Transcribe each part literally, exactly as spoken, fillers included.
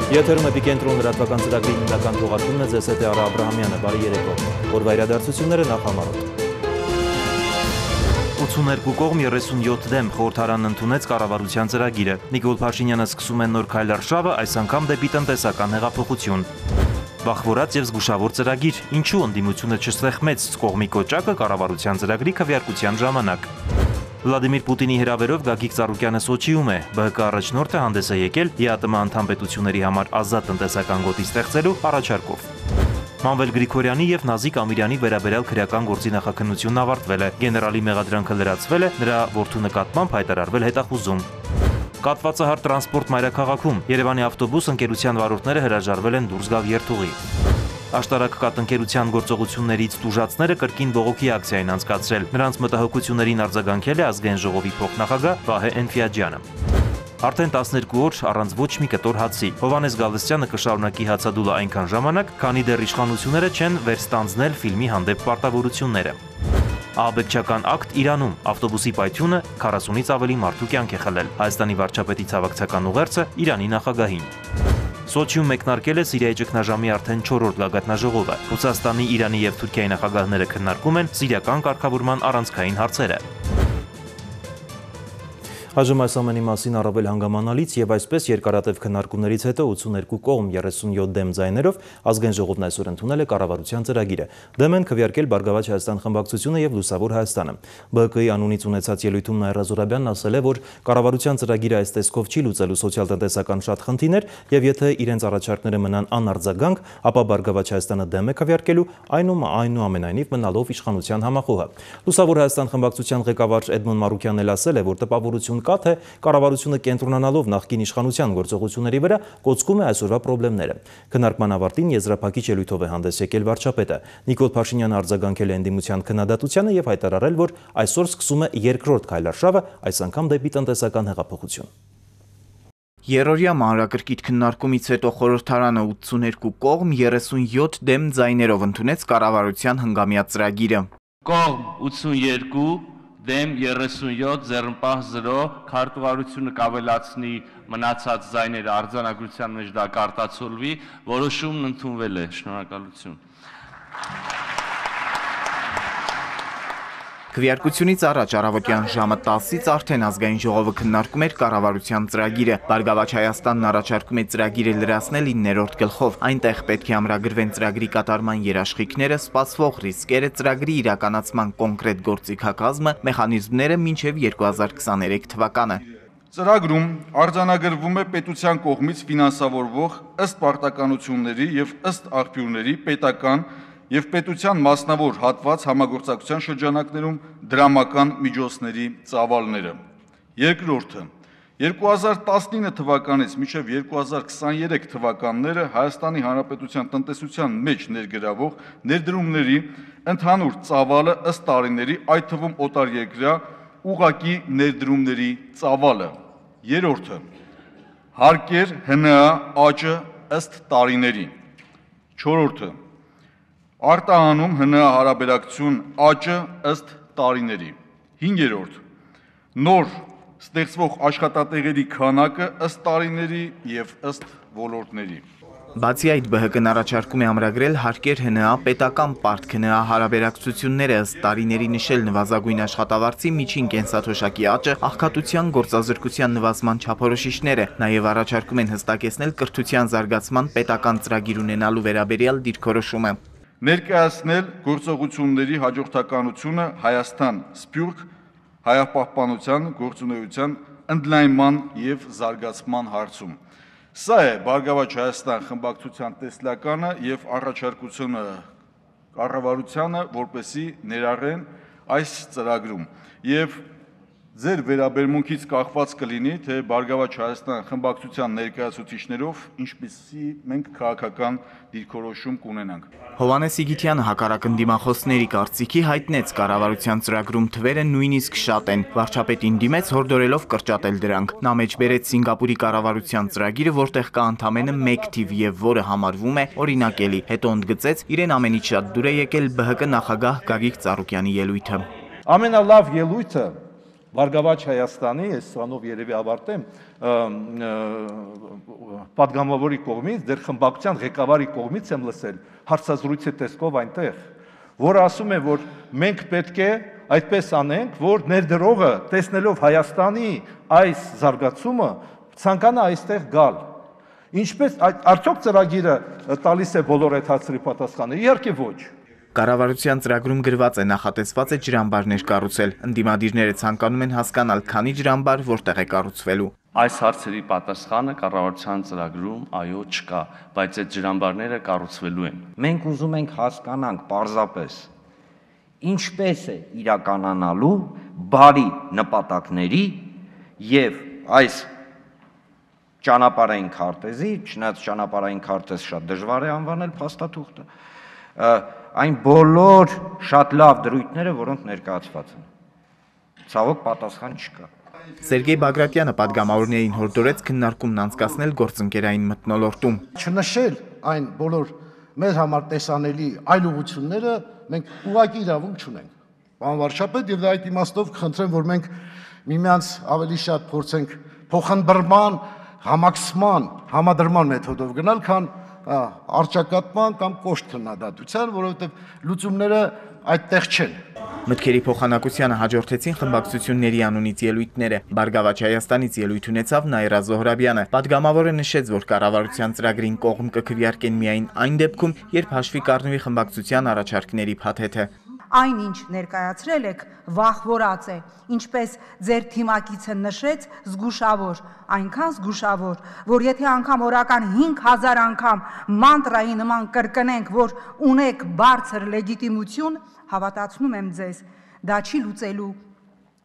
Եթերում Էպիկենտրոն լրատվական ծրագրի հիմնական թողարկումն է, ձեզ հետ է Արա Աբրահամյանը, բարի երեկո։ Օրվա իրադարձությունները նախամարոտ։ ութսուներկու կողմ երեսունյոթ դեմ խորհրդարանն ընդունեց կառավարության ծրագիրը։ Նիկոլ Փաշինյանը սկսում է նոր քայլարշավը, այս անգամ դեպի տնտեսական հեղափոխություն։ Վախվորած եւ զգուշավոր ծրագիր, ինչու ընդդիմությունը չստեղմեց կողմի կոճակը կառավարության ծրագրի քվեարկության ժամանակ։ Վլադիմիր Պուտինի հրավերով Գագիկ Ծառուկյանը Սոչիում է, ԲՀԿ առաջնորդը հանդես է եկել ԵԱՏՄ անդամ պետությունների համար ազատ տնտեսական գոտի ստեղծելու առաջարկով։ Մանվել Գրիգորյանի եւ Նազիկ Ամիրյանի վերաբերյալ քրեական գործի նախաքննությունն ավարտվել է, գեներալի մեղադրանքը լրացվել է, նրա որդու նկատմամբ հայտարարվել հետախուզում։ Կատվածահար տրանսպորտ մայրաքաղաքում Երևանի ավտոբուս ընկերության վարորդները հրաժարվել են դուրս գալ երթուղի։ Աշտարակ կաթընկերության գործողություններից տուժածները կրկին բողոքի ակցիա են անցկացրել, նրանց մտահոգություններին արձագանքել է ազգային ժողովի փոխնախագահ Վահե Էնֆիաջյանը։ Արդեն տասներկու օր առանց ոչ մի կտոր հացի, Հովհաննես Գալստյանը կշարունակի հացադուլը այնքան ժամանակ, քանի դեռ իշխանությունները չեն վերստանձնել ֆիլմի հանդեպ պարտավորությունները։ Ահաբեկչական ակտ Իրանում, ավտոբուսի պայթյունը քառասունից ավելի մարդու կյանք է խլել, Հայաստանի վարչապետի ցավակցական ուղերձը Իրանի նախագահին։ Սոչիում մեկնարկել է Սիրիայի ճգնաժամի արդեն չորրորդ գագաթնաժողովը։ Ռուսաստանի, Իրանի եւ Թուրքիայի նախագահները քննարկում են սիրիական կարգավորման առանցքային հարցերը։ Այժմ այս ամենի մասին առավել հանգամանալից եւ այսպես երկարատև քննարկումներից հետո ութսուներկու կողմ երեսունյոթ դեմ ձայներով ազգային ժողովն այսօր ընդունել է կառավարության ծրագիրը։ Դեմ են քվեարկել Բարգավաճ Հայաստան խմբակցությունը եւ Լուսավոր Հայաստանը։ ԲՀԿ-ի անունից ունեցած ելույթում Նաիրա Զոհրաբյանն ասել է, որ կառավարության ծրագիրը այս տեսքով չի լուծելու սոցիալ-տնտեսական շատ խնդիրներ եւ եթե իրենց առաջարկները մնան անարձագանք, ապա Բարգավաճ Հայաստանը դեմ է քվեարկելու այնուամենայնիվ մնալով իշխանության համախոհը։ Լուսավոր Հայաստան խմբակցության ղեկավար Էդմոն Մարուկյանն էլ ասել է, որ տպավորություն կա, թե կառավարությունը կենտրոնանալով նախկին իշխանության գործողությունների վրա կոծկում է այսօրվա խնդիրները։ Քննարկման ավարտին եզրափակիչ ելույթով է հանդես եկել վարչապետը։ Նիկոլ Փաշինյանը արձագանքել է ընդդիմության քննադատությանը եւ հայտարարել, որ այսօր սկսում է երկրորդ քայլարշավը, այս անգամ դեպի տնտեսական հեղափոխություն։ Երրորդյա մանրակրկիտ քննարկումից հետո խորհրդարանը ութսուներկու կողմ երեսունյոթ դեմ ձայներով ընդունեց կառավարության հնգամյա ծրագիրը։ Կողմ ութսունյոթ դեմ երեսունյոթ ձեռնպահ զրո քարտուղարությունը կավելացնի մնացած ձայները արձանագրության մեջ դա կարտացոլվի, որոշումն ընդունվել է, շնորհակալություն։ Քվեարկությունից առաջ առավոտյան ժամը տասից արդեն ազգային ժողովը քննարկում էր կառավարության ծրագիրը։ Բարգավաճ Հայաստանն առաջարկում է ծրագիրը լրացնել իններորդ գլխով։ Այնտեղ պետք է ամրագրվեն ծրագրի կատարման երաշխիքները, սպասվող ռիսկերը, ծրագրի իրականացման կոնկրետ գործիքակազմը, մեխանիզմները մինչև երկու հազար քսաներեք թվականը։ Ծրագրում արձանագրվում է պետության կողմից ֆինանսավորվող ըստ պարտականությունների եւ ըստ աղբյուրների պետական եւ պետության մասնավոր հատված համագործակցության շրջանակներում դրամական միջոցների ծավալները։ Երկրորդը, երկու հազար տասնինը թվականից մինչև երկու հազար քսաներեք թվականները Հայաստանի Հանրապետության տնտեսության մեջ ներգրավող ներդրումների ընդհանուր ծավալը ըստ տարիների, այդ թվում օտարերկրյա ուղղակի ներդրումների ծավալը։ Երրորդը, հարկեր ՀՆԱ աճը ըստ տարիների։ Չորրորդը, արտահանում ՀՆԱ հարաբերակցություն աճը ըստ տարիների։ Հինգերորդ, նոր ստեղծվող աշխատատեղերի քանակը ըստ տարիների եւ ըստ ոլորտների։ Բացի այդ, ԲՀԿ-ն առաջարկում է ամրագրել հարկեր ՀՆԱ պետական պարտք ՀՆԱ հարաբերակցությունները ըստ տարիների նշել նվազագույն աշխատավարձի միջին կենսաթոշակի աճը, աղքատության գործազրկության նվազման չափորոշիչները, նաև առաջարկում են հստակեցնել կրթության զարգացման պետական ծրագիր ունենալու վերաբերյալ դիրքորոշումը։ Ներկայացնել գործողությունների հաջորդականությունը Հայաստան Սփյուռք հայապահպանության գործունեության ընդլայնման եւ զարգացման հարցում։ Սա է Բարգավաճ Հայաստան խմբակցության տեսլականը եւ առաջարկությունը կառավարությանը, որպեսզի ներառեն այս ծրագրում եւ ձեր վերաբերմունքից կախված կլինի, թե Բարգավաճ Հայաստան խմբակցության ներկայացուցիչներով ինչպիսի մենք քաղաքական դիրքորոշում կունենանք։ Հովհաննես Իգիթյանը հակառակ ընդդիմախոսների կարծիքի հայտնեց կառավարության ծրագրում թվերը նույնիսկ շատ են, վարչապետին դիմեց հորդորելով կրճատել դրանք։ Նա մեջ բերեց Սինգապուրի կառավարության ծրագիրը, որտեղ կա ընդամենը մեկ թիվ եւ որը համարվում է օրինակելի։ Հետո ընդգծեց իրեն ամենից շատ դուր է եկել ԲՀԿ նախագահ Գագիկ Ծառուկյանի ելույթը։ Ամենալավ ելույթը Բարգավաճ Հայաստանի, ես սրանով երևի ավարտեմ, պատգամավորի կողմից, դեր խմբակցության ղեկավարի կողմից եմ լսել հարցազրույցի տեսքով այնտեղ, որ ասում է, որ մենք պետք է այդպես անենք, որ ներդրողը տեսնելով Հայաստանի այս զարգացումը ցանկանա այստեղ գալ։ Ինչպես արդյոք ծրագիրը տալիս է բոլոր այդ հարցերի պատասխանը։ Իհարկե ոչ։ Կառավարության ծրագրում գրված է նախատեսված է ջրամբարներ կառուցել։ Ընդդիմադիրները ցանկանում են հասկանալ, քանի ջրամբար որտեղ է կառուցվելու։ Այս հարցերի պատասխանը կառավարության ծրագրում այո չկա, բայց այդ ջրամբարները կառուցվելու են։ Մենք ուզում ենք հասկանանք պարզապես ինչպես է իրականանալու բարի նպատակների եւ այս ճանապարհային քարտեզի, չնայած ճանապարհային քարտեզ շատ դժվար է անվանել փաստաթուղթը, այն բոլոր շատ լավ դրույթները, որոնք ներկայացված են։ Ցավոք պատասխան չկա։ Սերգեյ Բագրատյանը պատգամավորներին հորդորեց քննարկումն անցկացնել գործընկերային մթնոլորտում։ Չնշել այն բոլոր մեր համար տեսանելի այլ ուղղությունները մենք ուղղակի իրավունք չունենք։ Պարոն վարչապետ, եւ այդ իմաստով կխնդրեմ, որ մենք միմյանց ավելի շատ փորձենք փոխանբռնման, համակցման, համադրման մեթոդով գնալ, քան արճակատման կամ կոշտ քննադատության, որովհետև լուծումները այդտեղ չեն։ Մտքերի փոխանակությանը հաջորդեցին խմբակցությունների անունից ելույթները։ Բարգավաճ Հայաստանից ելույթ ունեցավ Նաիրա Զոհրաբյանը։ Պատգամավորը նշեց, որ կառավարության ծրագրին կողմ կքվեարկեն միայն այն դեպքում, երբ հաշվի կառնվի խմբակցության առաջարկների փաթեթը։ Այնինչ ներկայացրել եք վախվորած է, ինչպես ձեր թիմակիցը նշեց, զգուշավոր, այնքան զգուշավոր, որ եթե անգամ օրական հինգ հազար անգամ մանտրայի նման կրկնենք, որ ունեք բարձր լեգիտիմություն, հավատացնում եմ ձեզ, դա չի լուծելու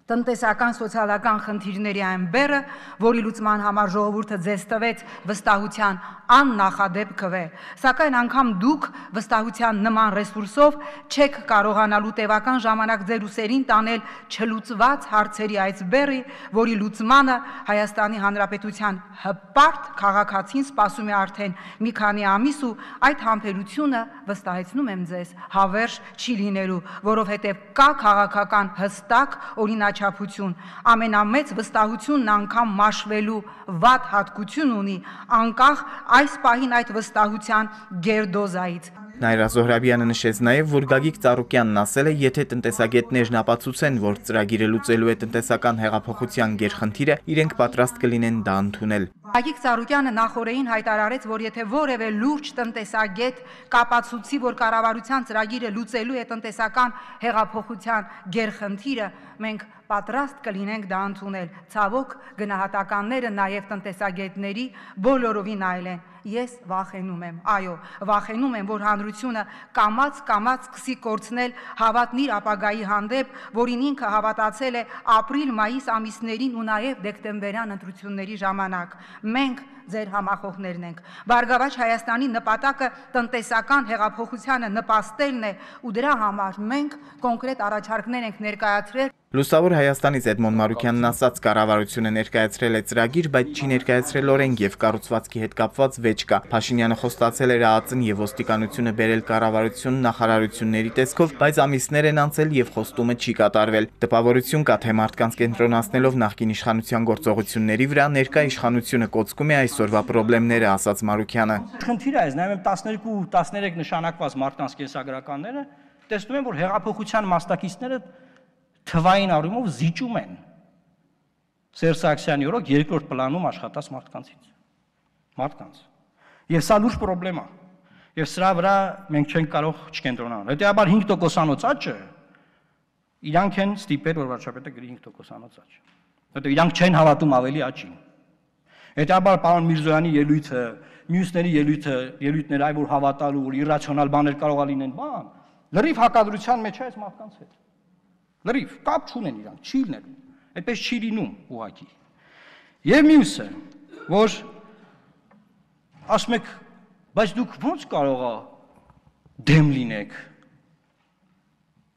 տնտեսական սոցիալական խնդիրների այն բեռը, որի լուծման համար ժողովուրդը ձեզ տվեց վստահության աննախադեպ քվե, սակայն անգամ դուք վստահության նման ռեսուրսով չեք կարողանալու տևական ժամանակ ձեր ուսերին տանել չլուծված հարցերի այս բեռի, որի լուծմանը Հայաստանի Հանրապետության հպարտ քաղաքացին սպասում է արդեն մի քանի ամիս ու այդ համբերությունը վստահեցնում եմ ձեզ հավերժ չի լինելու, որովհետև կա քաղաքական հստակ օրինաչափություն, ամենամեծ վստահությունն անգամ մաշվելու վատ հատկություն ունի, անկախ այս պահին այդ վստահության գերդոզայից։ Նաիրա Զոհրաբյանը նշեց նաև, որ Գագիկ Ծառուկյանն ասել է, եթե տնտեսագետներն ապացուցեն, որ ծրագիրը լուծելու է տնտեսական հեղափոխության գերխնդիրը, իրենք պատրաստ կլինեն դա ընդունել։ Գագիկ Ծառուկյանը նախորդին հայտարարեց, որ եթե որևէ լուրջ տնտեսագետ կապացուցի, որ կառավարության ծրագիրը լուծելու է տնտեսական հեղափոխության գերխնդիրը, մենք պատրաստ կլինենք դա ընդունել։ Ցավոք, գնահատականները նաև տնտեսագետների բոլորովին այլ են։ Ես վախենում եմ, այո, վախենում եմ, որ հանրությունը կամաց-կամաց սկսի կորցնել հավատն իր ապագայի հանդեպ, որին ինքը հավատացել է ապրիլ-մայիս ամիսներին ու նաև դեկտեմբերյան ընտրությունների ժամանակ։ Մենք ձեր համախոհներն ենք։ Բարգավաճ Հայաստանի նպատակը տնտեսական հեղափոխությանը նպաստելն է ու դրա համար մենք կոնկրետ առաջարկներ ենք ներկայացրել։ Լուսավոր Հայաստանից Էդմոն Մարուկյանն ասաց, կառավարությունը ներկայացրել է ծրագիր, բայց չի ներկայացրել օրենք եւ կառուցվածքի հետ կապված վեճ կա։ Փաշինյանը խոստացել էր ԱԱԾ-ն եւ ոստիկանությունը բերել կառավարություն նախարարությունների տեսքով, բայց ամիսներ են անցել եւ խոստումը չի կատարվել։ Տպավորություն կա, թե մարդկանց կենտրոնացնելով նախկին իշխանության գործողությունների վրա, ներկա իշխանությունը կոծկում է այսօրվա խնդիրները, ասաց Մարուկյանը։ Խնդիրը այս, նայում եմ տասներկու տասներեք նշանակված մարդկանց կենսագրականները, տեսնում եմ, որ հեղափոխության մասնակիցները թվային առումով զիջում են Սերժ Սարգսյանի օրոք երկրորդ պլանում աշխատած մարդկանցից, մարդկանց։ Եվ սա լուրջ խնդրեմ է։ Եվ սրա վրա մենք չենք կարող չկենտրոնանալ։ Հետևաբար հինգ տոկոսանոց աճը իրանք են ստիպել, որ վարչապետը գրի հինգ տոկոսանոց աճ։ Որտեղ իրանք չեն հավատում ավելի աճին։ Հետևաբար պարոն Միրզոյանի ելույթը, մյուսների ելույթը, ելույթները այ որ հավատալու, որ իրացիոնալ բաներ կարող է լինեն, բան, լրիվ հակադրության մեջ է այս մարդկանց հետ։ Լրիվ կապ չունեն իրանք, չի լինելու, այդպես չի լինում ուղղակի։ Եվ մյուսը, որ ասում եք, բայց դուք ո՞նց կարող է դեմ լինեք։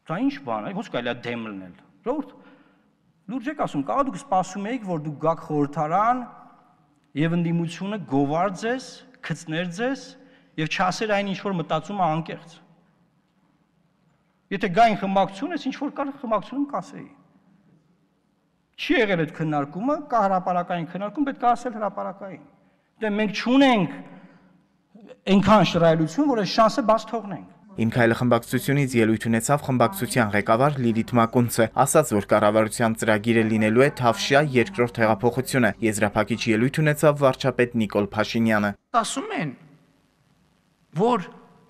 Դա ինչ բան է, ո՞նց կարելի է դեմ լինել։ Ժողովուրդ, լուրջ եք ասում, կարող դուք սպասում եք, որ դուք գաք խորհրդարան եւ ընդդիմությունը գովար ձեզ, գծներ ձեզ եւ չասեր այն ինչ որ մտածում է անկեղծ։ Եթե գային խմբակցություն, ես ինչ որ կար խմբակցությունում կասեի։ Չի եղել այդ քննարկումը, կա հրապարակային քննարկում, պետք է ասել հրապարակային։ Դե մենք չունենք այնքան շռայլություն, որ այս շանսը բաց թողնենք։ Իմ քայլը խմբակցությունից ելույթ ունեցավ խմբակցության ղեկավար Լիլիթ Մակունցը, ասաց, որ կառավարության ծրագիրը լինելու է Թավշյա երկրորդ հեղափոխությունը։ Եզրափակիչ ելույթ ունեցավ վարչապետ Նիկոլ Փաշինյանը։ Ասում են, որ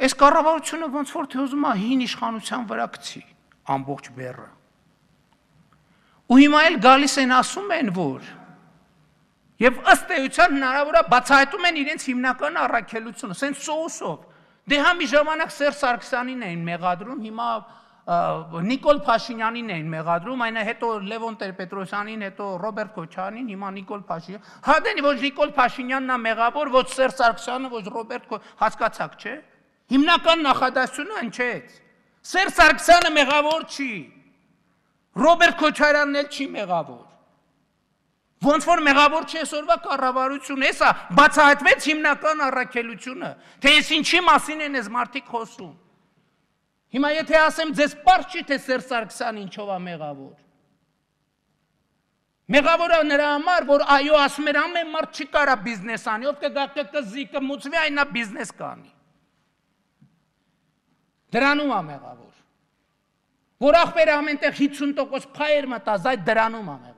այս կառավարությունը ոնց որ թե ուզում է հին իշխանության վրա գցի ամբողջ բեռը։ Ու հիմա էլ գալիս են ասում են, որ եւ ըստ էության հնարավոր է բացահայտում են իրենց հիմնական առաքելությունը, սենց սոուսով։ Դե հա մի ժամանակ Սերժ Սարգսյանին էին մեղադրում, հիմա Նիկոլ Փաշինյանին էին մեղադրում, այնա հետո Լևոն Տեր-Պետրոսյանին, հետո Ռոբերտ Քոչարյանին, հիմա Նիկոլ Փաշինյան։ Հա դե ոչ Նիկոլ Փաշինյանն է մեղավոր, ոչ Սերժ Սարգսյանը, ոչ Ռոբերտ հասկացաք, չէ։ Հիմնական նախադասությունը հնչեց։ Սերժ Սարգսյանը մեղավոր չի։ Ռոբերտ Քոչարյանն էլ չի մեղավոր։ Ոնց որ մեղավոր չի այսօրվա կառավարությունը, հեսա բացահայտվեց հիմնական առաքելությունը, թե ես ինչի մասին են այս մարդիկ խոսում։ Հիմա եթե ասեմ ձեզ պարզ չի, թե Սերժ Սարգսյանը ինչով է մեղավոր։ Մեղավորը նրա համար, որ այո ասում էր ամեն մարդ չի կարա բիզնես անի, ով կգա կզի կմուծվի, այն նա բիզնես կանի։ Դրանում է մեղավոր։ Որ ախպերը ամենտեղ հիսուն տոկոս փայեր մտած, այդ դրանում է մեղավոր։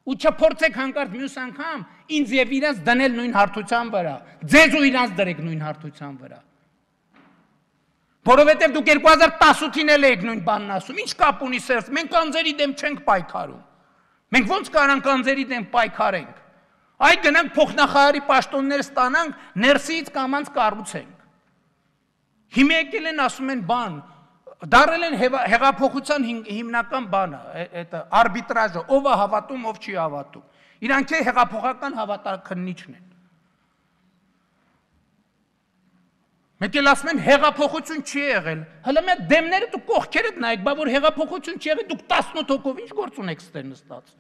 Ու չփորձեք հանկարծ մյուս անգամ ինձ եւ իրենց դնել նույն հարթության վրա, ձեզ ու իրենց դրեք նույն հարթության վրա։ Որովհետեւ դուք երկու հազար տասութին էլ եք նույն բանն ասում, ինչ կապ ունի Սերժ, մենք անձերի դեմ չենք պայքարում։ Մենք ոնց կարանք անձերի դեմ պայքարենք։ Այ գնանք փոխնախարարի պաշտոններ ստանանք, ներսից կամանց կառուցենք։ Հիմա եկել են ասում են բան, դարել են հեղափոխության հիմնական բանը, այդ արբիտրաժը, ով է հավատում, ով չի հավատում։ Իրանք է հեղափոխական հավատաքննիչն են։ Մեկ էլ ասում են հեղափոխություն չի եղել։ Հələ մի դեմները դուք կողքերդ նայեք, բա որ հեղափոխություն չի եղել, դուք տասնութ հոգով ինչ գործ ունեք ստեր նստած։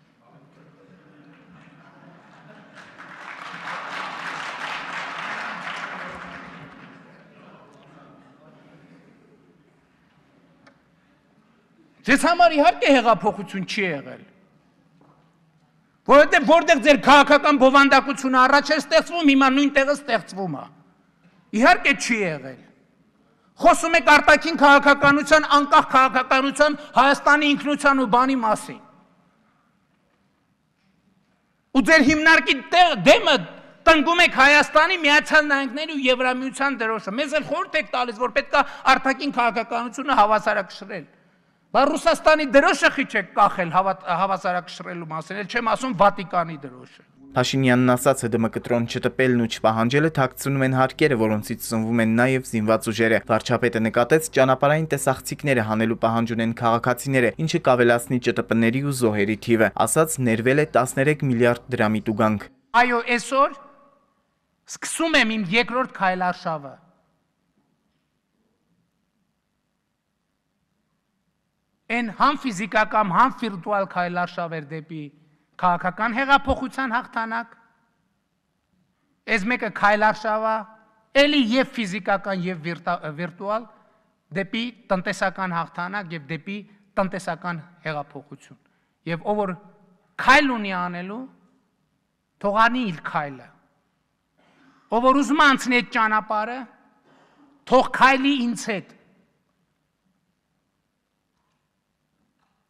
Ձեզ համար իհարկե հեղափոխություն չի եղել։ Որովհետև որտեղ ձեր քաղաքական բովանդակությունը առաջ էր ստեղծվում, հիմա նույն տեղը ստեղծվում է։ Իհարկե չի եղել։ Խոսում եք արտաքին քաղաքականության, անկախ քաղաքականության, Հայաստանի ինքնության ու բանի մասին։ Ու ձեր հիմնարկի դեմը տնկում եք Հայաստանի Միացյալ Նահանգների ու Եվրամիության դրոշը։ Մեզ էլ խորհուրդ եք տալիս, որ պետք է արտաքին քաղաքականությունը հավասարակշռել։ Բա Ռուսաստանի դրոշը խիչ եք կախել հավասարակշռելու մասին, էլ չեմ ասում Վատիկանի դրոշը։ Փաշինյանն ասաց, ՀԴՄ կտրոն չտպելն ու չպահանջելը թաքցնում են հարկերը, որոնցից ծնվում են նաև զինված ուժերը։ Վարչապետը նկատեց, ճանապարհային տեսախցիկները հանելու պահանջ ունեն քաղաքացիները, ինչը կավելացնի ՃՏՊ-ների ու զոհերի թիվը։ Ասաց, ներվել է տասներեք միլիարդ դրամի տուգանք։ Այո, այսօր սկսում եմ իմ երկրորդ քայլարշավը։ Են համ ֆիզիկական, համ վիրտուալ քայլարշավեր դեպի քաղաքական հեղափոխության հաղթանակ, այս մեկը քայլարշավա, էլի եւ ֆիզիկական եւ վիրտուալ դեպի տնտեսական հաղթանակ եւ դեպի տնտեսական հեղափոխություն։ Եվ ով որ քայլ ունի անելու, թող անի իր քայլը։ Ով որ ուզում անցնի այդ ճանապարհը, թող քայլի ինձ հետ։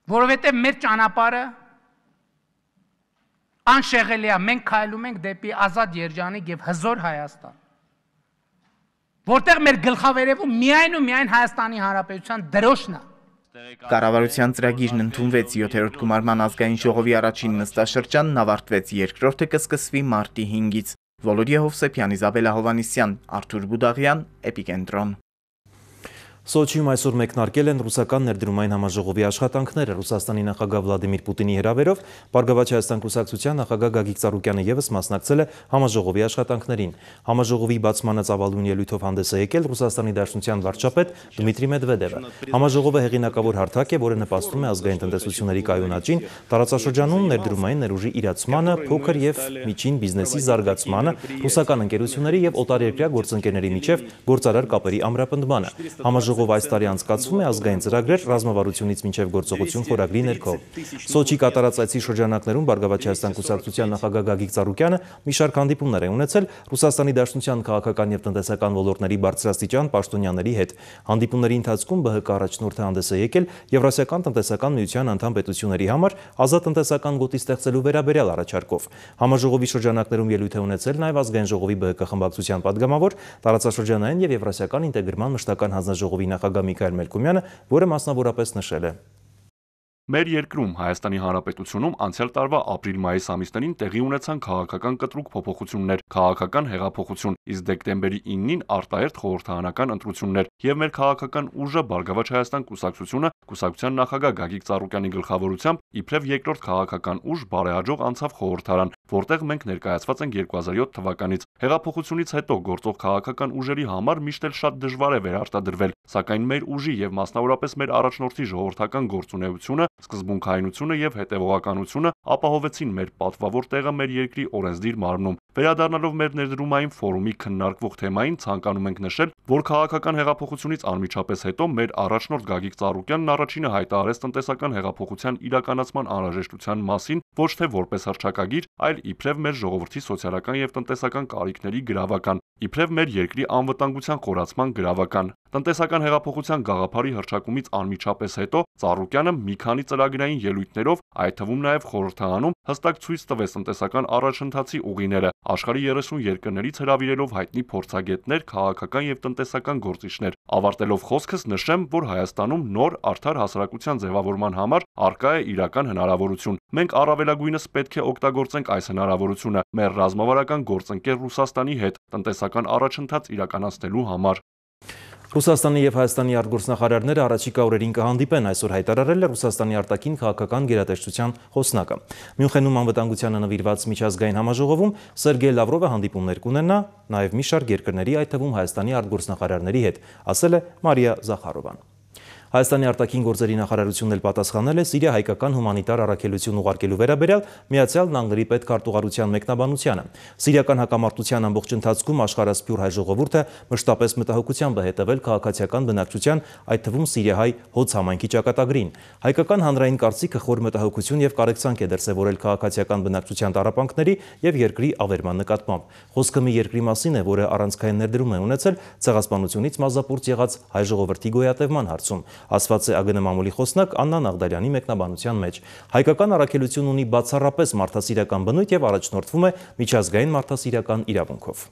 Որովհետև մեր ճանապարհը անշեղելի է, մենք քայլում ենք դեպի ազատ երջանիկ եւ հզոր Հայաստան, որտեղ մեր գլխավերևում միայն ու միայն Հայաստանի Հանրապետության դրոշն է։ Կառավարության ծրագիրն ընդունվեց յոթերորդ գումարման ազգային ժողովի առաջին նստաշրջանն ավարտվեց, երկրորդը կսկսվի մարտի հինգից։ Վոլոդիա Հովսեփյան, Իզաբելա Հովանիսյան, Արթուր Բուդաղյան, Էպիկենտրոն։ Սոչիում այսօր մեկնարկել են ռուսական ներդրումային համաժողովի աշխատանքները։ Ռուսաստանի նախագահ Վլադիմիր Պուտինի հրավերով Բարգավաճ Հայաստան կուսակցության նախագահ Գագիկ Ծառուկյանը ևս մասնակցել է համաժողովի աշխատանքներին։ Համաժողովի բացմանը ծավալուն ելույթով հանդես է եկել Ռուսաստանի Դաշնության վարչապետ Դմիտրի Մեդվեդևը։ Համաժողովը հեղինակավոր հարթակ է, որը նպաստում է ազգային տնտեսությունների կայունաճին, տարածաշրջանում ներդրումային ներուժի իրացմանը, փոքր եւ միջին բիզնեսի զարգացմանը, ռուսական ընկերությունների եւ օտարերկրյա գործընկերների միջև գործարար կապերի ամրապնդմանը։ Համաժողովը այս տարի անցկացվում է ազգային ծրագրեր ռազմավարությունից մինչև գործողություն խորագրի ներքո։ Սոչի կատարած այցի շրջանակներում Բարգավաճ Հայաստան կուսակցության նախագահ Գագիկ Ծառուկյանը մի շարք հանդիպումներ է ունեցել Ռուսաստանի Դաշնության քաղաքական և տնտեսական ոլորտների բարձրաստիճան պաշտոնյաների հետ։ Հանդիպումների ընթացքում ԲՀԿ առաջնորդը հանդես է եկել Եվրասիական տնտեսական միության անդամ պետությունների համար ազատ տնտեսական գոտի ստեղծելու վերաբերյալ առաջարկով։ Համաժողովի շրջանակներում ելույթ է ունեցել նաև ազգային ժողովի ԲՀԿ խմբակցության падգամավոր, տարածաշրջանային և եվրասիական ինտեգրման մշտական հանձնաժողովի նախագահ Միքայել Մելքումյանը, որը մասնավորապես նշել է. Մեր երկրում Հայաստանի Հանրապետությունում անցյալ տարվա ապրիլ-մայիս ամիսներին տեղի ունեցան քաղաքական կտրուկ փոփոխություններ, քաղաքական հեղափոխություն, իսկ դեկտեմբերի իննին արտահերթ խորհրդարանական ընտրություններ, եւ մեր քաղաքական ուժը Բարգավաճ Հայաստան կուսակցությունը կուսակցության նախագահ Գագիկ Ծառուկյանի գլխավորությամբ իբրև երկրորդ քաղաքական ուժ բարեհաջող անցավ խորհրդարան, որտեղ մենք ներկայացված ենք երկու հազար յոթ թվականից։ Հեղափոխությունից հետո գործող քաղաքական ուժերի համար միշտ էլ շատ դժվար է վերարտադրվել, սակայն մեր ուժի եւ մասնավորապես մեր առաջնորդի ժողովրդական գործունեությունը, սկզբունքայնությունը եւ հետեւողականությունը ապահովեցին մեր պատվավոր տեղը մեր երկրի օրենսդիր մարմնում։ Վերադառնալով մեր ներդրումային ֆորումի քննարկվող թեմային, ցանկանում ենք նշել, որ քաղաքական հեղափոխությունից անմիջապես հետո մեր առաջնորդ Գագիկ Ծառուկյանն առաջինը հայտարարեց տնտեսական հեղափոխության իրականացման անհրաժեշտության մասին, ոչ թե որպես հռչակագիր, այլ իբրև մեր ժողովրդի սոցիալական եւ տնտեսական կարիքների գրավական, իբրև մեր երկրի անվտանգության խորացման գրավական։ Տնտեսական հեղափոխության գաղափարի հռչակումից անմիջապես հետո Ծառուկյանը մի քանի ծրագրային ելույթներով, այդ թվում նաև խորհրդարանում, հստակ ցույց տվեց տնտեսական առաջընթացի ուղիները, աշխարհի երեսուն երկրներից հրավիրելով հայտնի փորձագետներ, քաղաքական եւ տնտեսական գործիչներ։ Ավարտելով խոսքս նշեմ, որ Հայաստանում նոր արդար հասարակության ձևավորման համար առկա է իրական հնարավորություն։ Մենք առավելագույնս պետք է օգտագործենք այս հնարավորությունը մեր ռազմավարական գործընկեր Ռուսաստանի հետ տնտեսական առաջընթաց իրականացնելու համար։ Ռուսաստանի և Հայաստանի արտգործնախարարները առաջիկա օրերին կհանդիպեն, այսօր հայտարարել է Ռուսաստանի արտաքին քաղաքական գերատեսչության խոսնակը։ Մյունխենում անվտանգությանը նվիրված միջազգային համաժողովում Սերգեյ Լավրովը հանդիպումներ կունենա նաև մի շարք երկրների, այդ թվում Հայաստանի արտգործնախարարների հետ, ասել է Մարիա Զախարովան։ Հայաստանի արտաքին գործերի նախարարությունն էլ պատասխանել է Սիրիա հայկական հումանիտար առաքելություն ուղարկելու վերաբերյալ Միացյալ Նահանգների պետքարտուղարության մեկնաբանությանը։ Սիրիական հակամարտության ամբողջ ընթացքում աշխարհասփյուռ հայ ժողովուրդը մշտապես մտահոգությամբ է հետևել քաղաքացիական բնակչության, այդ թվում սիրիահայ հոց համայնքի ճակատագրին։ Հայկական հանրային կարծիքը խոր մտահոգություն եւ կարեկցանք է դրսեւորել քաղաքացիական բնակչության տառապանքների եւ երկրի ավերման նկատմամբ։ Խոսքը մի երկրի մասին է, որը առանցքային ներդրում է ունեցել ցեղասպանությունից մազապուրծ եղած հայ ժողովրդի գոյատևման հարցում, ասված է ԱԳՆ մամուլի խոսնակ Աննա Նաղդարյանի մեկնաբանության մեջ։ Հայկական առաքելություն ունի բացառապես մարդասիրական բնույթ եւ առաջնորդվում է միջազգային մարդասիրական իրավունքով։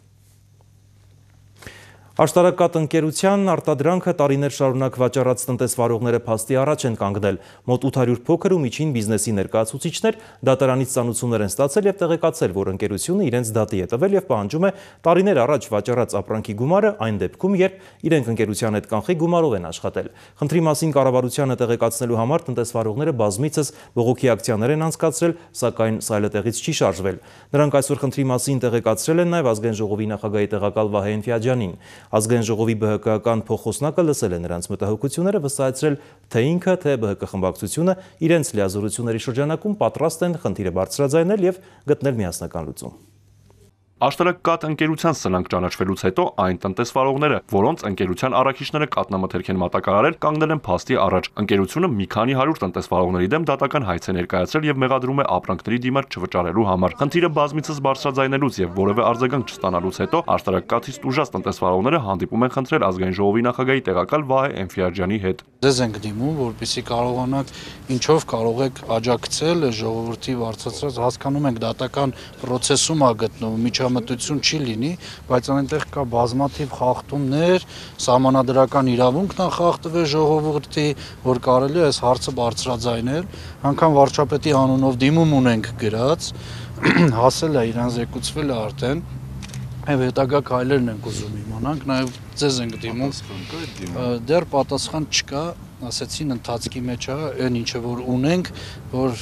Աշտարակատ ընկերության արտադրանքը տարիներ շարունակ վաճառած տնտեսվարողները փաստի առաջ են կանգնել։ Մոտ ութ հարյուր փոքր ու միջին բիզնեսի ներկայացուցիչներ դատարանից ծանուցումներ են ստացել եւ տեղեկացել, որ ընկերությունը իրենց դատի է տվել եւ պահանջում է տարիներ առաջ վաճառած ապրանքի գումարը այն դեպքում, երբ իրենք ընկերության հետ կանխի գումարով են աշխատել։ Խնդրի մասին կառավարությանը տեղեկացնելու համար տնտեսվարողները բազմիցս բողոքի ակցիաներ են անցկացրել, սակայն սայլետեղից չի շարժվել։ Նրանք այսօր խնդրի մասին տեղեկացրել են նաեւ ազգային ժողովի նախագահի տեղակալ Վահե Էնֆիաջյանին։ Ազգային ժողովի ԲՀԿ-ական փոխխոսնակը լսել է նրանց մտահոգությունները, վստահեցրել, թե ինքը, թե ԲՀԿ խմբակցությունը իրենց լիազորությունների շրջանակում պատրաստ են խնդիրը բարձրաձայնել եւ գտնել միասնական լուծում։ Աշտարակատ ընկերության սնանկ ճանաչվելուց հետո այն տնտեսվարողները, որոնց ընկերության առաքիչները կատնամթերք են մատակարարել, կանգնել են փաստի առաջ։ Ընկերությունը մի քանի հարյուր տնտեսվարողների դեմ դատական հայց է ներկայացրել եւ մեղադրում է ապրանքների դիմաց չվճարելու համար։ Խնդիրը բազմիցս բարձրաձայնելուց եւ որևէ արձագանք չստանալուց հետո աշտարակատից տուժած տնտեսվարողները հանդիպում են խնդրել ազգային ժողովի նախագահի տեղակալ Վահե Էնֆիաջյանի հետ։ Ձեզ ենք դիմում, որպեսզի կարողանաք ինչով կարող եք աջակցել ժողովրդի բարձրացրած, հասկանում ենք դատական process-ում ա գտնվում, միջամտություն չի լինի, բայց այնտեղ կա բազմաթիվ խախտումներ, սահմանադրական իրավունքն է խախտվել ժողովրդի, որ կարելի է այս հարցը բարձրաձայնել, անգամ վարչապետի անունով դիմում ունենք գրած, հասել է իրան զեկուցվել է արդեն, եւ հետագա քայլերն ենք ուզում իմանանք, նաեւ ձեզ ենք դիմում, դեռ պատասխան չկա, ասեցին ընթացքի մեջ է, այն ինչը որ ունենք, որ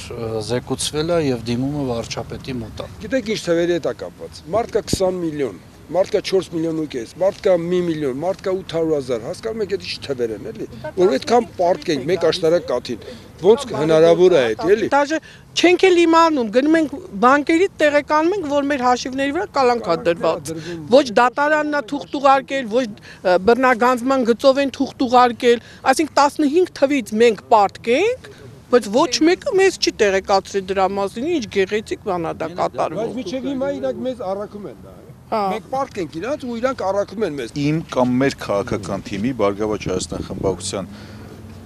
զեկուցվել է եւ դիմումը վարչապետի մոտ է։ Գիտեք ինչ թվերի հետ է կապված։ Մարդ կա քսան միլիոն, մարդ կա չորս միլիոն ու կես, մարդ կա մի միլիոն, մարդ կա ութ հարյուր հազար, հասկանում եք այդ ինչ թվեր են, էլի։ Որ այդքան պարտք ենք մեկ աշտարակ կաթին։ ոնց հնարավոր է այդ, էլի։ Դաժե չենք էլ իմանում, գնում ենք բանկերից տեղեկանում ենք, որ մեր հաշիվների վրա կալանք է դրված։ Ոչ դատարանն է թուղթ ուղարկել, ոչ բռնագանձման գծով են թուղթ ուղարկել, այսինքն տասնհինգ թվից մենք պարտք ենք, բայց ոչ մեկը մեզ չի տեղեկացրել դրա մասին, ինչ գեղեցիկ բան է դա կատարվում։ Բայց միջև հիմա իրանք մեզ առաքում են դա։ Մենք պարտք ենք իրանք ու իրանք առաքում են մեզ։ Իմ կամ մեր քաղաքական թիմի Բարգավաճ Հայաստան խմբակցության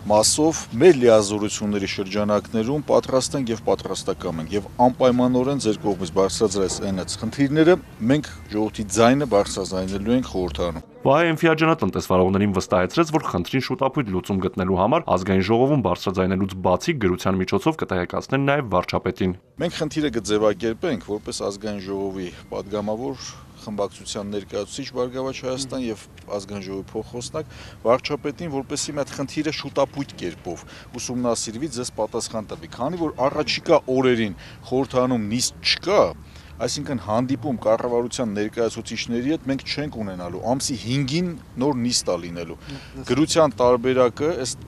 մասով մեր լիազորությունների շրջանակներում պատրաստ ենք եւ պատրաստական ենք եւ անպայմանորեն ձեր կողմից բարձրացրած այնած խնդիրները մենք ժողովրդի ձայնը բարձրաձայնելու ենք խորհրդարանում։ Վահե Էնֆիաջյանը տնտեսվարողներին վստահեցրեց, որ խնդրին շուտապույտ լուծում գտնելու համար ազգային ժողովում բարձրաձայնելուց բացի գրության միջոցով կտեղեկացնեն նաև վարչապետին։ Մենք խնդիրը կձևակերպենք որպես ազգային ժողովի падգամավոր խմբակցության ներկայացուցիչ Բարգավաճ Հայաստան եւ ազգային ժողովի փոխոսնակ վարչապետին, որպեսզի մի հատ խնդիրը շուտապույտ կերպով ուսումնասիրվի, ձեզ պատասխան տվի, քանի որ առաջիկա օրերին խորհրդարանում նիստ չկա, այսինքն հանդիպում կառավարության ներկայացուցիչների հետ մենք չենք ունենալու, ամսի հինգին նոր նիստ է լինելու։ Գրության տարբերակը ըստ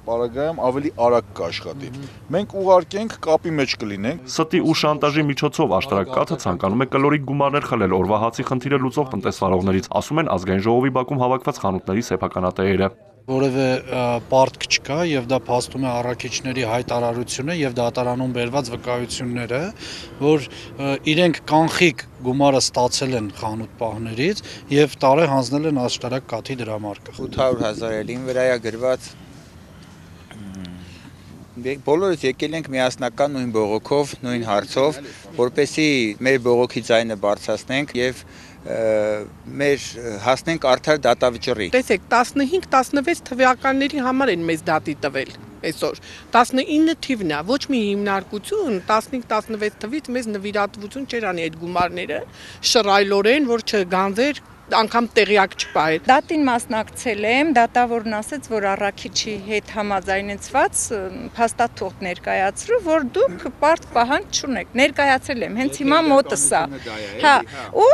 պարագայում ավելի արագ կաշխատի։ Մենք ուղարկենք կապի մեջ կլինենք։ Ստի ու շանտաժի միջոցով աշտարակկաթը ցանկանում է կլորիկ գումարներ խլել օրվա հացի խնդիրը լուծող տնտեսվարողներից, ասում են ազգային ժողովի բակում հավաքված խանութների սեփականատերերը։ Որևէ պարտք չկա եւ դա փաստում է առաքիչների հայտարարությունը եւ դատարանում բերված վկայությունները, որ իրենք կանխիկ գումարը ստացել են խանութ պահներից եւ տարե հանձնել են աշտարակ կաթի դրամարկղ։ ութ հարյուր հազար էլ ին վրա է գրված։ Բոլորս եկել ենք միասնական նույն բողոքով, նույն հարցով, որպեսզի մեր բողոքի ձայնը բարձրացնենք եւ մեր հասնենք արդար դատավճռի։ Տեսեք, տասնհինգ տասնվեց թվականների համար են մեզ դատի տվել այսօր։ տասնինը թիվն է, ոչ մի հիմնարկություն տասնհինգ տասնվեց թվից մեզ նվիրատվություն չէր անի այդ գումարները, շռայլորեն, որ չգանձեր անգամ տեղյակ չպահել։ Դատին մասնակցել եմ, դատավորն ասաց, որ առաքիչի հետ համաձայնեցված փաստաթուղթ ներկայացրու, որ դուք պարտ պահանջ չունեք։ Ներկայացրել եմ, հենց հիմա մոտս է։ Հա, ու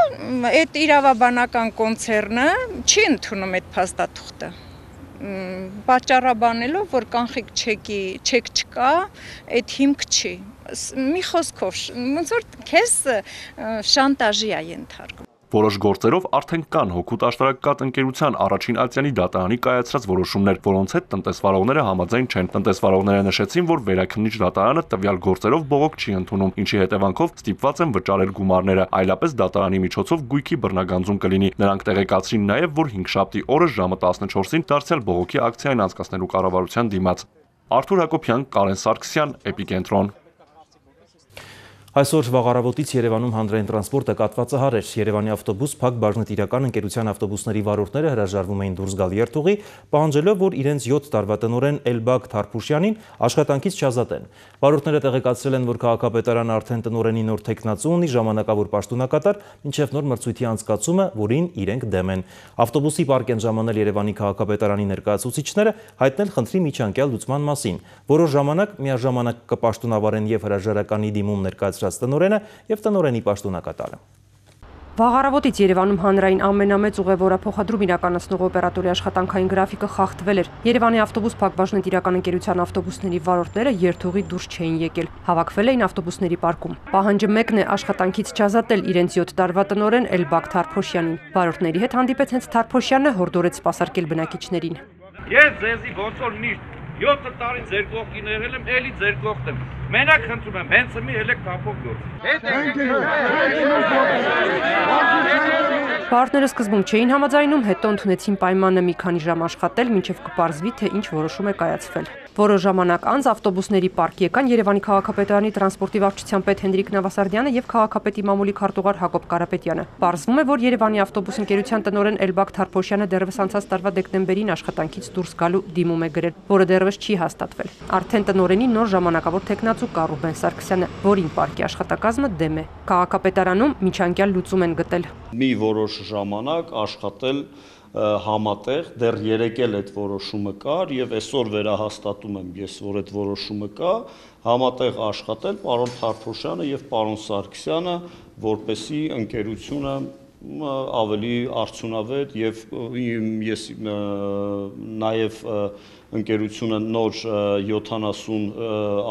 այդ իրավաբանական կոնցեռնը չի ընդունում այդ փաստաթուղթը։ Պատճառաբանելով, որ կանխիկ չեկի, չեք չկա, այդ հիմք չի։ Մի խոսքով, ոնց որ քեզ շանտաժի է ենթարկում։ Որոշ գործերով արդեն կան հօգուտ աշտարակկաթ ընկերության առաջին ալցյանի դատարանի կայացրած որոշումներ, որոնց հետ տնտեսվարողները համաձայն չեն։ Տնտեսվարողները նշեցին, որ վերաքննիչ դատարանը տվյալ գործերով բողոք չի ընդունում, ինչի հետևանքով ստիպված են վճարել գումարները, այլապես դատարանի միջոցով գույքի բռնագանձում կլինի։ Նրանք տեղեկացրին նաև, որ հինգշաբթի օրը ժամը տասնչորսին դարձյալ բողոքի ակցիան անցկացնելու կառավարության դիմաց։ Արթուր Հակոբյան, Կարեն Սարգսյան, Էպիկենտրոն։ Այսօր վաղ առավոտից Երևանում հանրային տրանսպորտը կաթվածահար էր։ Երևանի ավտոբուս փակ բաժնետիրական ընկերության ավտոբուսների վարորդները հրաժարվում էին դուրս գալ երթուղի, պահանջելով, որ իրենց յոթ տարվա տնօրեն Էլբակ Թարփուշյանին աշխատանքից չազատեն։ Վարորդները տեղեկացրել են, որ քաղաքապետարանը արդեն տնօրենի նոր թեկնածու ունի, ժամանակավոր պաշտոնակատար, մինչև նոր մրցույթի անցկացումը, որին իրենք դեմ են։ Ավտոբուսի պարկ են ժամանել Երևանի քաղաքապետարանի ներկայացուցիչները, հայտնել խնդրի միջանկյալ լուծման մասին։ Որոշ ժամանակ միաժամանակ կպաշտոնավարեն եւ հրաժարականի դիմում ներկայացրած տնօրենը եւ տնօրենի պաշտոնակատարը։ Վաղ առավոտից Երևանում հանրային ամենամեծ ուղևորափոխադրում իրականացնող օպերատորի աշխատանքային գրաֆիկը խախտվել էր։ Երևանի ավտոբուս փակ բաժնետիրական ընկերության ավտոբուսների վարորդները երթուղի դուրս չէին եկել, հավաքվել էին ավտոբուսների պարկում։ Պահանջը մեկն է աշխատանքից չազատել իրենց յոթ տարվա տնօրեն Էլբակ Թարփոշյանին։ Վարորդների հետ հանդիպեց հենց Թարփոշյանը, հորդորեց սպասարկել բնակիչներին։ Ես ձեզի ոնց որ միշտ յոթ տարի ձեր կողքին եղել եմ, էլի ձեր կողքն եմ։ Մենակ խնդրում եմ, հենց մի հելեք կապով գործ։ Վարորդները սկզբում չէին համաձայնում, հետո ընդունեցին պայմանը մի քանի ժամ աշխատել, մինչև կպարզվի, թե ինչ որոշում է կայացվել։ Որոշ ժամանակ անց ավտոբուսների պարկ եկան Երևանի քաղաքապետարանի տրանսպորտի վարչության պետ Հենրիկ Նավասարդյանը եւ քաղաքապետի մամուլի քարտուղար Հակոբ Կարապետյանը։ Պարզվում է, որ Երևանի ավտոբուս ընկերության տնօրեն Էլբակ Թարփոշյանը դեռևս անցած տարվա դեկտեմբերին աշխատանքից դուրս գալու դիմում է գրել, որը դեռևս չի հաստատվել։ Արդեն տնօրենի նոր ժամանակավոր թեկնածու կա Ռուբեն Սարգսյանը, որին պարկի աշխատակազմը դեմ է։ Քաղաքապետարանում միջանկյալ լուծում են գտել։ Մի որոշ ժամանակ աշխատել համատեղ, դեռ երեկ էլ այդ որոշումը կար եւ այսօր վերահաստատում եմ ես, որ այդ որոշումը կա, համատեղ աշխատել պարոն Թարփուշյանը եւ պարոն Սարգսյանը, որպեսի ընկերությունը ավելի արդյունավետ եւ ես նաեւ ընկերությունը նոր յոթանասուն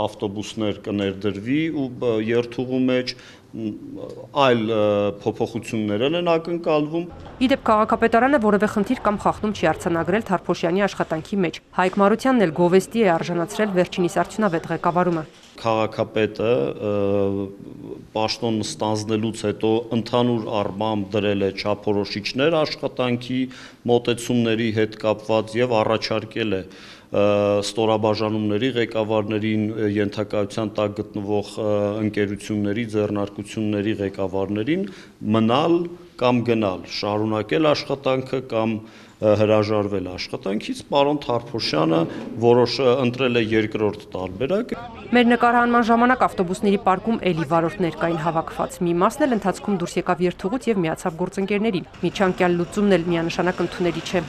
ավտոբուսներ կներդրվի ու երթուղու մեջ այլ փոփոխություններ են ակնկալվում։ Իդեպ քաղաքապետարանը որևէ խնդիր կամ խախտում չի արձանագրել Թարփոշյանի աշխատանքի մեջ։ Հայկ Մարությանն էլ գովեստի է արժանացրել վերջինիս արդյունավետ ղեկավարումը։ Քաղաքապետը պաշտոն ստանձնելուց հետո ընդհանուր առմամբ դրել է չափորոշիչներ աշխատանքի մոտեցումների հետ կապված եւ առաջարկել է ստորաբաժանումների ղեկավարներին, ենթակայության տակ գտնվող ընկերությունների, ձեռնարկությունների ղեկավարներին մնալ կամ գնալ, շարունակել աշխատանքը կամ հրաժարվել աշխատանքից, պարոն Թարփոշյանը որոշ ընտրել է երկրորդ տարբերակ։ Մեր նկարահանման ժամանակ ավտոբուսների պարկում էլի վարորդներ կային հավաքված։ Մի մասն էլ ընթացքում դուրս եկավ երթուղուց եւ միացավ գործընկերներին։ Միջանկյալ լուծումն էլ միանշանակ ընդունելի չէ։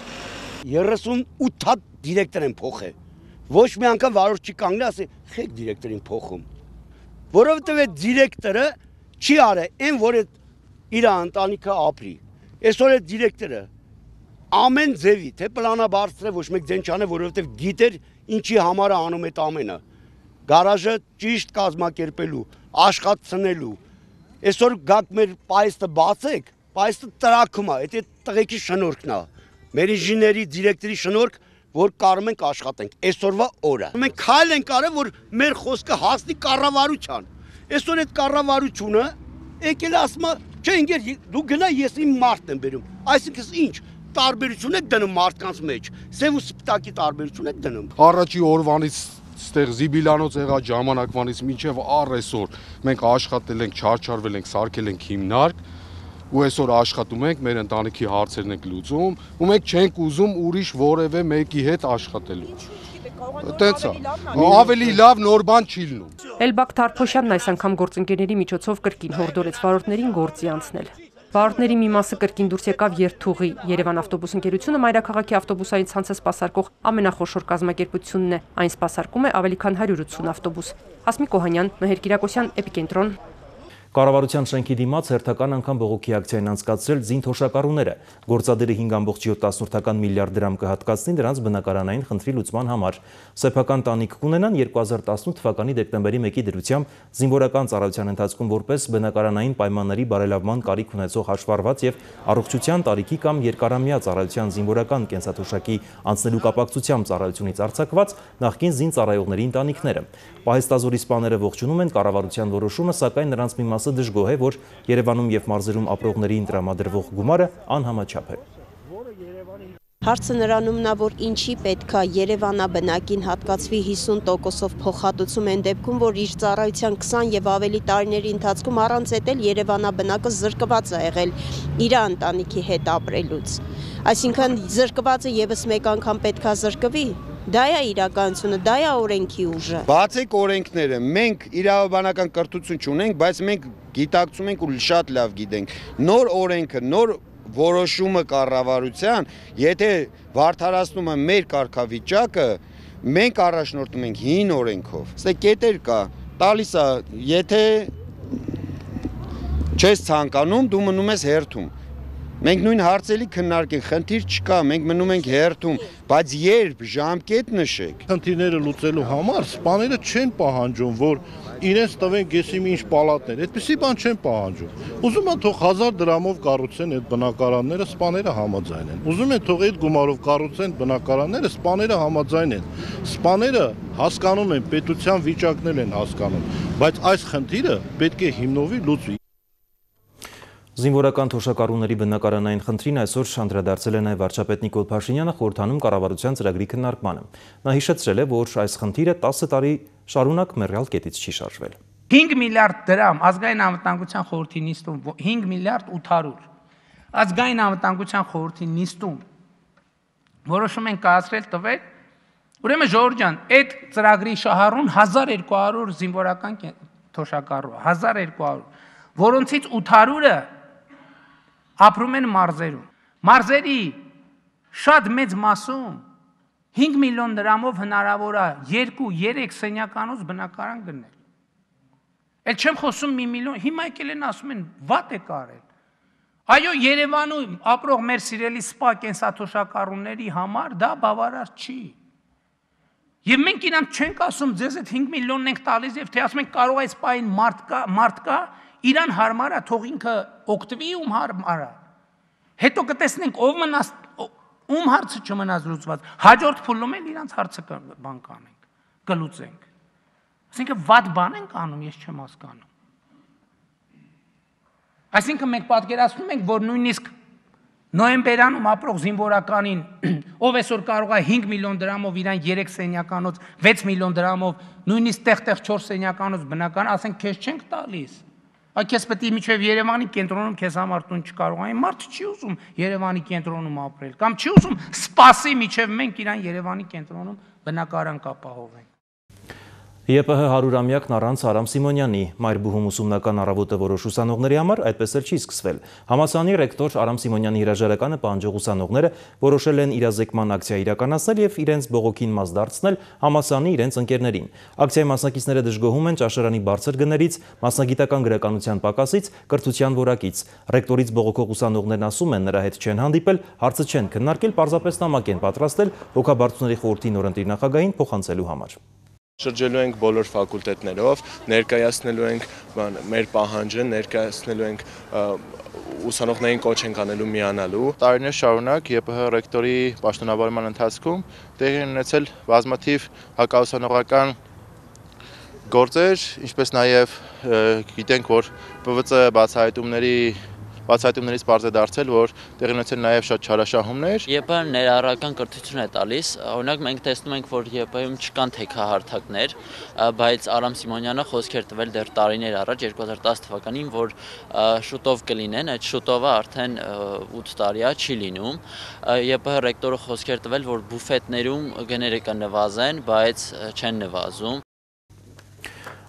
երեսունութ հատ դիրեկտոր են փոխել։ Ոչ մի անգամ վարորդ չի կանգնել, ասի, «Խեք դիրեկտորին փոխում»։ Որովհետեւ այդ դիրեկտորը չի արել այն, որ իր ընտանիքը ապրի։ Այսօր այդ դիրեկտորը ամեն ձևի, թե պլանաբարձր ոչ մեկ ձեն չանե, որովհետեւ գիտեր ինչի համար է անում այդ ամենը։ Գարաժը ճիշտ կազմակերպելու, աշխատցնելու։ Այսօր գաք մեր պայստը բացեք, պայստը տրակում է, այդ տղեկի շնորհքն է։ Մեր ինժեների դիրեկտորի շնորհք, որ կարում ենք աշխատենք այսօրվա օրը։ Մենք քայլ ենք արել, որ մեր խոսքը հասնի կառավարության։ Այսօր այդ կառավարությունը եկել ասում է, չէ, ինգեր դու գնա, ես իմ մարդն եմ բերում։ Այսինքն ինչ, տարբերություն եք դնում մարդկանց մեջ, սև ու սպիտակի տարբերություն եք դնում։ Առաջի օրվանից ստեղ Զիբիլյանոց եղած ժամանակվանից մինչև առ այսօր մենք աշխատել ենք, չարչարվել ենք, սարքել ենք հիմնարկ ու այսօր աշխատում ենք, մեր ընտանիքի հարցերն ենք լուծում, ու մենք չենք ուզում ուրիշ որևէ մեկի հետ աշխատելու։ Տենց է, ավելի լավ նոր բան չի լինում։ Էլբակ Թարփոշյանն այս անգամ գործընկերների միջոցով կրկին հորդորեց վարորդներին գործի անցնել։ Վարորդների մի մասը կրկին դուրս եկավ երթուղի։ Երևան ավտոբուս ընկերությունը մայրաքաղաքի ավտոբուսային ցանցը սպասարկող ամենախոշոր կազմակերպությունն է։ Այն սպասարկում է ավելի քան հարյուր ութսուն ավտոբուս։ Հասմիկ Օհանյան, Մհեր Կիրակոսյան, Էպիկենտրոն։ Կառավարության շենքի դիմաց հերթական անգամ բողոքի ակցիա են անցկացրել զինթոշակառուները։ Գործադիրը հինգ ամբողջ յոթ միլիարդ դրամ կհատկացնի դրանց բնակարանային խնդրի լուծման համար։ Սեփական տանիք կունենան երկու հազար տասնութ թվականի դեկտեմբերի մեկի դրությամբ զինվորական ծառայության ընթացքում որպես բնակարանային պայմանների բարելավման կարիք ունեցող հաշվառված եւ առողջության տարիքի կամ երկարամյա ծառայության զինվորական կենսաթոշակի անցնելու կապակցությամբ ծառայությունից արձակված նախկին զինծառայողների ընտանիքները։ Պահեստազորի սպաները ողջունում են կառավարության որոշումը, սակայն նրանց մի մասը դժգոհ է, որ Երևանում եւ մարզերում ապրողներին տրամադրվող գումարը անհամաչափ է։ Հարցը նրանումն է, որ ինչի պետք է Երևանաբնակին հատկացվի հիսուն տոկոսով փոխհատուցում են դեպքում, որ իր ծառայության քսան եւ ավելի տարիների ընթացքում առանց էտել Երևանաբնակը զրկված է եղել իր ընտանիքի հետ ապրելուց։ Այսինքն զրկվածը եւս մեկ անգամ պետք է զրկվի։ Դա է իրականությունը, դա է օրենքի ուժը։ Բացեք օրենքները, մենք իրավաբանական կրթություն չունենք, բայց մենք գիտակցում ենք ու շատ լավ գիտենք։ Նոր օրենքը, նոր որոշումը կառավարության, եթե վարդարացնում է մեր կարգավիճակը, մենք առաջնորդում ենք հին օրենքով։ Սա կետեր կա, տալիս է, եթե չես ցանկանում, դու մնում ես հերթում։ Մենք նույն հարցերի քննարկենք, խնդիր չկա, մենք մնում ենք հերթում, բայց երբ ժամկետ նշեք։ Խնդիրները լուծելու համար սպաները չեն պահանջում, որ իրենց տվեն գեսիմի ինչ պալատներ, այդպիսի բան չեն պահանջում։ Ուզում են թող հազար դրամով կառուցեն այդ բնակարանները, սպաները համաձայն են։ Ուզում են թող այդ գումարով կառուցեն բնակարանները, սպաները համաձայն են։ Սպաները հասկանում են, պետության վիճակներ են հասկանում, բայց այս խնդիրը պետք է հիմնովի լուծվի։ Զինվորական թոշակառուների բնակարանային խնդրին այսօր անդրադարձել է նաև վարչապետ Նիկոլ Փաշինյանը խորհրդանում կառավարության ծրագրի քննարկմանը։ Նա հիշեցրել է, որ այս խնդիրը տասը տարի շարունակ մեռյալ կետից չի շարժվել։ հինգ միլիարդ դրամ ազգային անվտանգության խորհրդի նիստում, հինգ միլիարդ ութ հարյուր ազգային անվտանգության խորհրդի նիստում որոշում են կայացրել տվել, ուրեմն Ժողովուրդ ջան, այդ ծրագրի շահառուն հազար երկու հարյուր զինվորական թոշակառու, հազար երկու հարյուր, որոնցից ութ հարյուրը ապրում են մարզերում։ Մարզերի շատ մեծ մասում հինգ միլիոն դրամով հնարավոր է երկու երեք սենյականոց բնակարան գնել։ Էլ չեմ խոսում մի միլիոն, հիմա եկել են ասում են վատ է կարել։ Այո, Երևանում ապրող մեր սիրելի սպա կենսաթոշակառուների համար դա բավարար չի։ Եվ մենք իրանք չենք ասում ձեզ այդ հինգ միլիոնն ենք տալիս եւ թե ասում ենք կարող է սպային մարդ կա, մարդ կա, իրան հարմար է, թող ինքը օգտվի ում հարմար է։ Հետո կտեսնենք ով մնաց ում հարցը չմնաց լուծված։ Հաջորդ փուլում էլ իրանք հարցը բան կանենք, կլուծենք։ Այսինքն վատ բան ենք անում, ես չեմ հասկանում։ Այսինքն մենք պատկերացնում ենք, որ նույնիսկ նոյեմբերանում ապրող զինվորականին, ով այսօր կարող է հինգ միլիոն դրամով իրան երեք սենյականոց, վեց միլիոն դրամով, նույնիսկ տեղ-տեղ չորս սենյականոց բնական, ասենք քեզ չենք տալիս։ Այ քեզ պետք է միջև Երևանի կենտրոնում քեզ համար տուն չկարողանա, մարդը չի ուզում Երևանի կենտրոնում ապրել, կամ չի ուզում սպասի միջև մենք իրան Երևանի կենտրոնում բնակարան կապահովենք։ ԵՊՀ հարյուրամյակն առանց Արամ Սիմոնյանի մայրբուհում ուսումնական առավոտը որոշ ուսանողների համար այդպես էլ չի սկսվել։ Համալսարանի ռեկտոր Արամ Սիմոնյանի հրաժարականը պահանջող ուսանողները որոշել են իրազեկման ակցիա իրականացնել եւ իրենց բողոքին մաս դարձնել համալսարանի իրենց ընկերներին։ Ակցիայի մասնակիցները դժգոհում են ճաշարանի բարձր գներից, մասնագիտական գրականության պակասից, կրթության որակից։ Ռեկտորից բողոքող ուսանողներն ասում են, նրա հետ չեն հանդիպել, հարցը չեն քննարկել, պարզապես նամակ են պատրաստել հոգաբարձուների խորհրդի նորընտիր նախագահին փոխանցելու համար։ Շրջելու ենք բոլոր ֆակուլտետներով, ներկայացնելու ենք մեր պահանջը, ներկայացնելու ենք ուսանողներին կոչ ենք անելու միանալու։ Տարիներ շարունակ ԵՊՀ ռեկտորի պաշտոնավարման ընթացքում տեղի են ունեցել բազմաթիվ հակաուսանողական գործեր, ինչպես նաև գիտենք, որ ՊՎԾ բացահայտումների Բացահայտումներից պարզ է դարձել, որ տեղի ունեցել նաև շատ չարաշահումներ։ ԵՊՀ-ն ներառական կրթություն է տալիս, օրինակ մենք տեսնում ենք, որ ԵՊՀ-ում չկան թեքահարթակներ, բայց Արամ Սիմոնյանը խոսք էր տվել դեռ տարիներ առաջ երկու հազար տասը թվականին, որ շուտով կլինեն, այդ շուտովը արդեն ութ տարի է չի լինում։ ԵՊՀ ռեկտորը խոսք էր տվել, որ բուֆետներում գները կնվազեն, բայց չեն նվազում։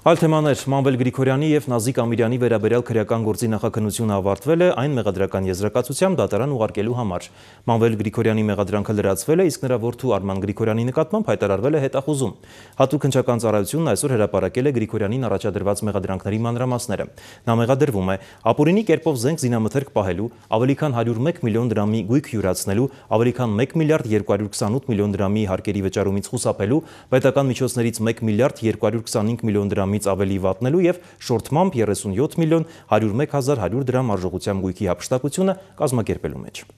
Այլ թեմաներ Մանվել Գրիգորյանի և Նազիկ Ամիրյանի վերաբերյալ քրեական գործի նախաքննությունը ավարտվել է այն մեղադրական եզրակացությամբ դատարան ուղարկելու համար։ Մանվել Գրիգորյանի մեղադրանքը լրացվել է, իսկ նրա որդու Արման Գրիգորյանի նկատմամբ հայտարարվել է հետախուզում։ Հատուկ հնչական ծառայությունն այսօր հրապարակել է Գրիգորյանին առաջադրված մեղադրանքների մանրամասները։ Նա մեղադրվում է ապօրինի կերպով զենք զինամթերք պահելու, ավելի քան հարյուր մեկ միլիոն դրամի գույք յուրացնելու, ավելի քան մեկ միլիարդ երկու հարյուր քսանութ միլիոն դրամի հարկերի վճարումից խուսափելու, պետական միջոցներից մեկ միլիարդ երկու հարյուր քսանհինգ միլիոն դրամ ավելի վատնելու և շորթմամբ երեսունյոթ միլիոն հարյուր մեկ հազար հարյուր դրամ արժողությամբ գույքի հափշտակությունը կազմակերպելու մեջ։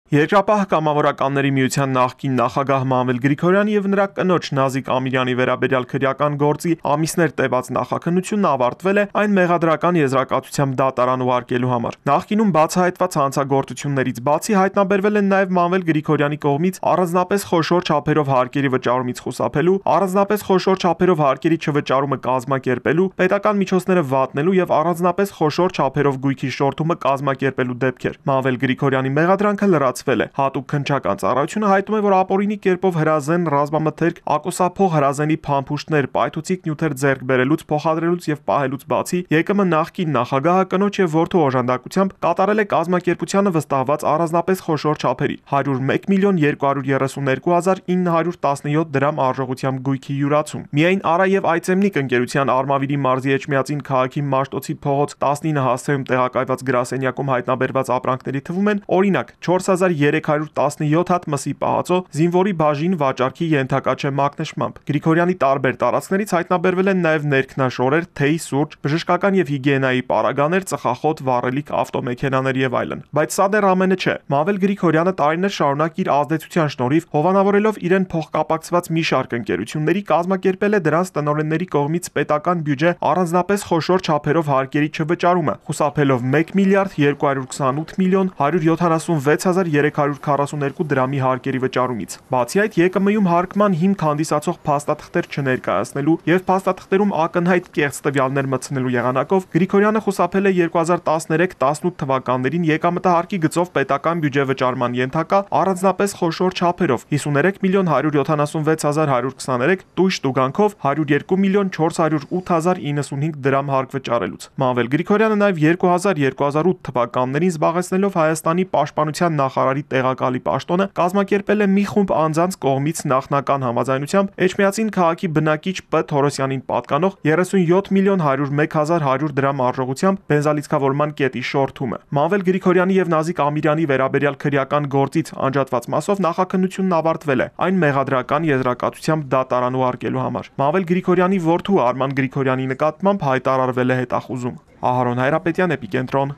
Երկրապահ կամավորականների միության նախկին նախագահ Մանվել Գրիգորյանի եւ նրա կնոջ Նազիկ Ամիրյանի վերաբերյալ քրեական գործի ամիսներ տևած նախաքննությունն ավարտվել է այն մեղադրական եզրակացությամբ դատարան ուղարկելու համար։ Նախկինում բացահայտված հանցագործություններից բացի հայտնաբերվել են նաեւ Մանվել Գրիգորյանի կողմից առանձնապես խոշոր չափերով հարկերի վճարումից խուսափելու, առանձնապես խոշոր չափերով հարկերի չվճարումը կազմակերպելու, պետական միջոցները վատնելու եւ առանձնապես խոշոր չափերով գույքի շորթումը կազմակերպելու դեպքեր։ Մանվել Գրիգորյանի մեղադրանքը լրացվել է։ Հատուկ քննչական ծառայությունը հայտնում է, որ ապօրինի կերպով հրազեն, ռազմամթերք, ակոսափող հրազենի փամփուշտներ, պայթուցիկ նյութեր ձեռք բերելուց, փոխադրելուց եւ պահելուց բացի ԵԿՄ նախկին նախագահը կնոջ եւ որդու օժանդակությամբ կատարել է կազմակերպությանը վստահված առանձնապես խոշոր չափերի հարյուր մեկ միլիոն երկու հարյուր երեսունյոթ հազար ինը հարյուր տասնյոթ դրամ արժողությամբ գույքի յուրացում։ Միայն Արա եւ Այցեմնիկ ընկերության Արմավիրի մարզի Էջմիածին քաղաքի Մաշտոցի փողոց տասնինը հասցեում տեղակայված գրասենյակում հայտնաբերված ապրանքների թվում են օրինակ չորս հազար երեք հարյուր տասնյոթ հատ մսի պահածո, զինվորի բաժին վաճառքի ենթակա չէ մակնշմամբ։ Գրիգորյանի տարբեր տարածքներից հայտնաբերվել են նաև ներքնաշորեր, թեյ, սուրճ, բժշկական եւ հիգիենայի պարագաներ, ծխախոտ, վառելիք, ավտոմեքենաներ եւ այլն։ Բայց սա դեռ ամենը չէ։ Մանվել Գրիգորյանը տարիներ շարունակ իր ազդեցության շնորհիվ հովանավորելով իրեն փոխկապակցված մի շարք ընկերությունների կազմակերպել է դրանց տնօրենների կողմից պետական բյուջե առանձնապես խոշոր չափերով հարկերի չվճարումը, խուսափելով մեկ միլիարդ երկու հարյուր քսանութ միլիոն հարյուր յոթանասունվեց հազար երեք հարյուր քառասուներկու դրամի հարկերի վճարումից։ Բացի այդ, ԵԿՄ-ում հարկման հիմք հանդիսացող փաստաթղթեր չներկայացնելու եւ փաստաթղթերում ակնհայտ կեղծ տվյալներ մտցնելու եղանակով Գրիգորյանը խուսափել է երկու հազար տասներեք տասնութ թվականներին եկամտահարկի գծով պետական բյուջե վճարման ենթակա առանձնապես խոշոր չափերով հիսուներեք միլիոն հարյուր յոթանասունվեց հազար հարյուր քսաներեք, տույժ տուգանքով հարյուր երկու միլիոն չորս հարյուր ութ հազար իննսունհինգ դրամ հարկ վճարելուց։ Մանվել Գրիգորյանը նաեւ երկու հազար երկու հազար ութ թվականներին զբաղեցնելով Հայաստանի պաշտպանության նախարար հայտարարի տեղակալի պաշտոնը կազմակերպել է մի խումբ անձանց կողմից նախնական համաձայնությամբ Էջմիածին քաղաքի բնակիչ П. Թորոսյանին պատկանող երեսունյոթ միլիոն հարյուր մեկ հազար հարյուր դրամ արժողությամբ բենզալիցքավորման կետի շորթումը։ Մանվել Գրիգորյանի եւ Նազիկ Ամիրյանի վերաբերյալ քրեական գործից անջատված մասով նախաքննությունն ավարտվել է այն մեղադրական եզրակացությամբ դատարան ուղարկելու համար։ Մանվել Գրիգորյանի որդու Արման Գրիգորյանի նկատմամբ հայտարարվել է հետախուզում։ Ահարոն Հայրապետյան, Էպիկենտրոն։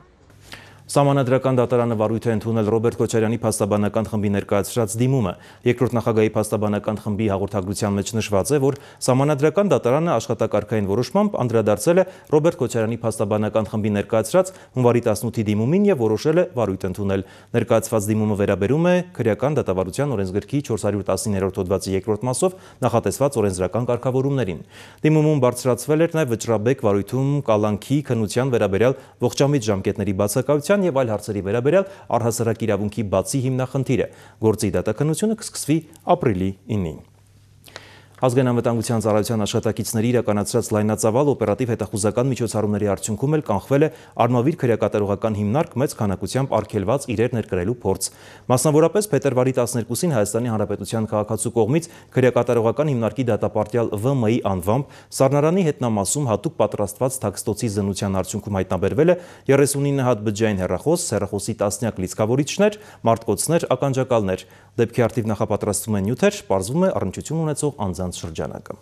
Սահմանադրական դատարանը վարույթ է ընդունել Ռոբերտ Քոչարյանի փաստաբանական խմբի ներկայացրած դիմումը։ Երկրորդ նախագահի փաստաբանական խմբի հաղորդագրության մեջ նշված է, որ Սահմանադրական դատարանը աշխատակարգային որոշմամբ անդրադարձել է Ռոբերտ Քոչարյանի փաստաբանական խմբի ներկայացրած հունվարի տասնութի դիմումին եւ որոշել է վարույթ ընդունել։ Ներկայացված դիմումը վերաբերում է քրեական դատավարության օրենսգրքի չորս հարյուր տասնիններորդ հոդվածի երկրորդ մասով նախատեսված օրենսդրական կարգավորումներին։ Դիմումում բարձրացվել էր նաեւ վճռաբեկ վարույթում կալանքի քննության վերաբերյալ ողջամիտ ժամկետների բացակայության եւ այլ հարցերի վերաբերյալ առհասարակ իրավունքի բացի հիմնախնդիրը։ Գործի դատաքննությունը կսկսվի ապրիլի ինին։ Ազգային անվտանգության ծառայության աշխատակիցների իրականացրած լայնածավալ օպերատիվ հետախուզական միջոցառումների արդյունքում էլ կանխվել է արմավիր քրեակատարողական հիմնարկ մեծ քանակությամբ արգելված իրեր ներկրելու փորձ։ Մասնավորապես փետրվարի տասներկուսին Հայաստանի Հանրապետության քաղաքացու կողմից քրեակատարողական հիմնարկի դատապարտյալ Վ Մ-ի անվամբ Սառնարանի հետնամասում հատուկ պատրաստված թաքստոցի զննության արդյունքում հայտնաբերվել է երեսունինը հատ բջջային հեռախոս, հեռախոսի տասնյակ լիցքավորիչներ, մարտկոցներ, ականջակալներ։ Դեպքի արդիվ նախապատրաստվում են նյութեր, պարզվում է առնչություն ունեցող անձանց շրջանակը։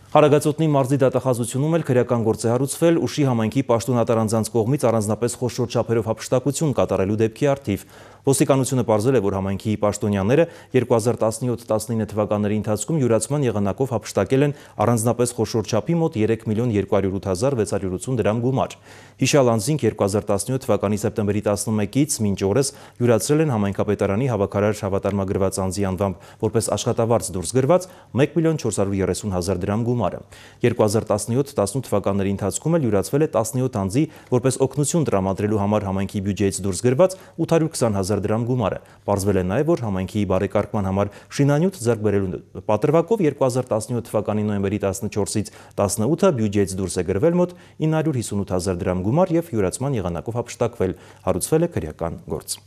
Հարագածոտնի մարզի դատախազությունում էլ քրեական գործ է հարուցվել Ուշի համայնքի պաշտոնատար անձանց կողմից առանձնապես խոշոր չափերով հափշտակություն կատարելու դեպքի արդիվ։ Ոստիկանությունը պարզել է, որ համայնքի պաշտոնյաները երկու հազար տասնյոթ տասնինը թվականների ընթացքում յուրացման եղանակով հափշտակել են առանձնապես խոշոր չափի մոտ երեք միլիոն երկու հարյուր ութ հազար վեց հարյուր ութսուն դրամ գումար։ Հիշյալ անձինք երկու հազար տասնյոթ թվականի սեպտեմբերի տասնմեկից մինչ օրս յուրացրել են համայնքապետարանի հավաքարար հավատարմագրված անձի անվամբ որպես աշխատավարձ դուրս գրված մեկ միլիոն չորս հարյուր երեսուն հազար դրամ գումարը։ երկու հազար տասնյոթ տասնութ թվականների ընթացքում էլ յուրացվել է տասնյոթ անձի որպես օգնություն տրամադրելու համար համայնքի բյուջեից դուրս գրված ութ հարյուր քսան հազար դրամ գումարը։ Պարզվել է նաև, որ համայնքի բարեկարգման համար շինանյութ ձեռք բերելու պատրվակով երկու հազար տասնյոթ թվականի նոյեմբերի տասնչորսից տասնութը բյուջեից դուրս է գրվել մոտ ինը հարյուր հիսունութ հազար դրամ գումար եւ յուրացման եղանակով հափշտակվել։ Հարուցվել է քրեական գործ։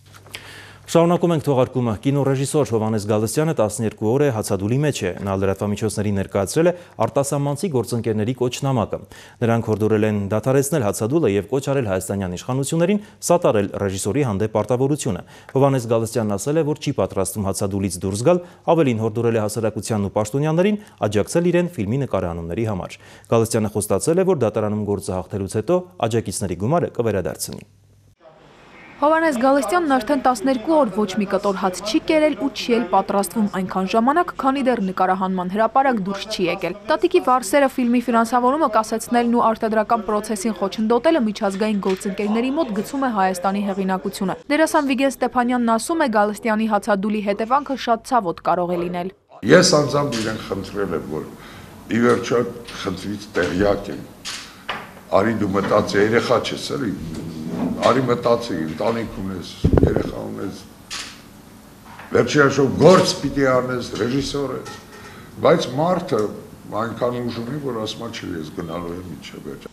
Շարունակում ենք թողարկումը։ Կինոռեժիսոր Հովհաննես Գալստյանը տասներկու օր է հացադուլի մեջ է։ Նա լրատվամիջոցներին ներկայացրել է արտասահմանցի գործընկերների կոչնամակը։ Նրանք հորդորել են դադարեցնել հացադուլը եւ կոչ արել հայաստանյան իշխանություններին սատարել ռեժիսորի հանդեպ պարտավորությունը։ Հովհաննես Գալստյանն ասել է, որ չի պատրաստվում հացադուլից դուրս գալ, ավելին հորդորել է հասարակությանն ու պաշտոնյաներին աջակցել իրեն ֆիլմի նկարահանումների համար։ Գալստյանը խոստացել է, որ դատարանում գործը հաղթելուց հետո աջակիցների գումարը կվերադարձնի։ Հովհաննես Գալստյանն արդեն տասներկու օր ոչ մի կտոր հաց չի կերել ու չի էլ պատրաստվում այնքան ժամանակ, քանի դեռ նկարահանման հրապարակ դուրս չի եկել։ Տատիկի վարսերը ֆիլմի ֆինանսավորումը կասեցնելն ու արտադրական պրոցեսին խոչընդոտելը միջազգային գործընկերների մոտ գցում է Հայաստանի հեղինակությունը։ Դերասան Վիգեն Ստեփանյանն ասում է, Գալստյանի հացադուլի հետևանքը շատ ցավոտ կարող է լինել։ Ես անձամբ իրեն խնդրել եմ, որ ի վերջո խնդրից տեղյակ եմ։ Արի դու մտածի, երեխա չես, էլի։ Արի մտածի, ընտանիք ունես, երեխա ունես, վերջի հաշվով գործ պիտի անես, ռեժիսոր ես, բայց մարդը այնքան ուժ ունի, որ ասում է չի ես գնալու եմ մինչև վերջ։